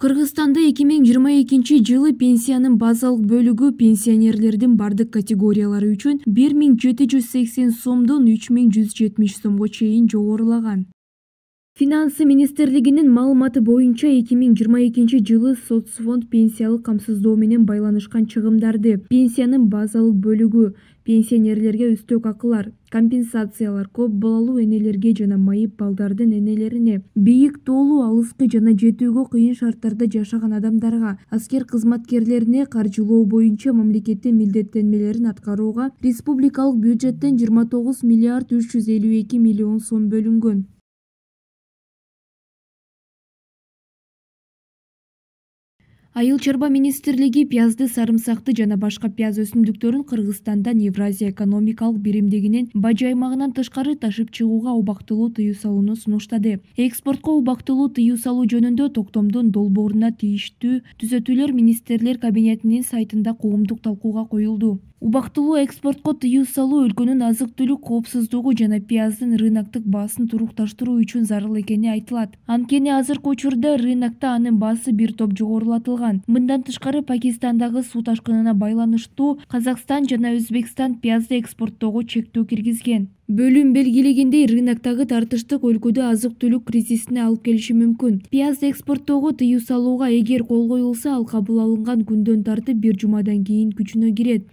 Кыргызстанда 2022-жылы пенсиянын базалык бөлүгү пенсионерлердин бардык категориялары үчүн 1780 сомдон 3170 сомго чейин жогорулаган. Финансы министрлигинин маалыматы боюнча 2022-жылы соцфонд пенсиялык камсыздоо менен байланышкан чыгымдарды пенсиянын базалык бөлүгү, пенсионерлерге үстөк акылар, компенсациялар, көп балалуу энелерге жана майып балдардын энелерине, бийик тоолуу, алыскы жана жетүүгө кыйын шарттарда жашаган адамдарга, аскер кызматкерлерине каржылоо боюнча мамлекеттин милдеттенмелерин аткарууга республикалык бюджеттен 29 миллиард 352 миллион сом бөлүнгөн. Айыл чарба министрлиги пиязды, сарымсакты жана башка пияз өсүмдүктөрүн Кыргызстандан Евразия экономикалык биримдигинин бажы аймагынан тышкары ташып чыгууга убактылуу тыюу салууну сунуштады. Экспортко убактылуу тыюу салуу жөнүндө токтомдун долбооруна тийиштүү түзөтүүлөр министрлер кабинетинин сайтында коомдук талкууга коюлду. Убактылуу экспортко тыюу салуу өлкөнүн азык-түлүк коопсуздугу жана пияздын рыноктук баасын турукташтыруу үчүн зарыл экени айтылат. Анткени азыркы учурда рынокто анын баасы бир топ жогорулатылган. Мындан тышкары Пакистандагы суу ташкынына байланыштуу Казакстан жана Өзбекстан пиязды экспорттоого чектөө киргизген. Бөлүм белгилегендей, рыноктогу тартыштык өлкөдө азык-түлүк кризисине алып келиши мүмкүн. Пиязды экспорттоого тыюу салууга эгер кол коюлса, ал кабыл алынган күндөн тартып 1 жумадан кийин күчүнө кирет.